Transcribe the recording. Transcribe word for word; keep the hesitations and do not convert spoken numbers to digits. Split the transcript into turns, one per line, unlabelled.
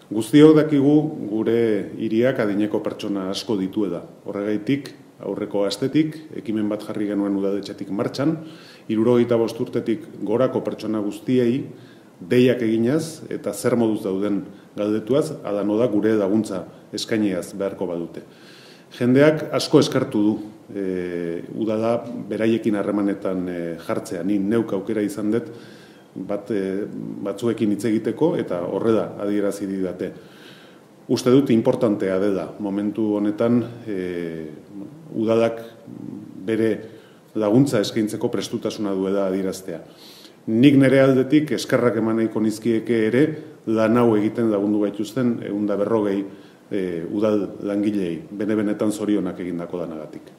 Guztiok dakigu gure hiriak adineko pertsona asko ditu da. Horregaitik, aurreko astetik, ekimen bat jarri genuen udaletxetik martxan, hirurogeita bost urtetik gorako pertsona guztiei deiak eginaz eta zer moduz dauden galdetuaz, adano da gure laguntza eskainiaz beharko badute. Jendeak asko eskartu du e, udala beraiekin harremanetan e, jartzea. Ni neuk aukera izan dut bat, e, batzuekin hitz egiteko eta horrela adierazi didate. Uste dut importantea dela momentu honetan e, udalak bere laguntza eskaintzeko prestutasuna duela adieraztea. Nik nire aldetik eskerrak eman nahiko nizkieke ere lan hau egiten lagundu gaituzten ehun eta berrogei e, udal langilei, bene benetan zorionak egindako lanagatik.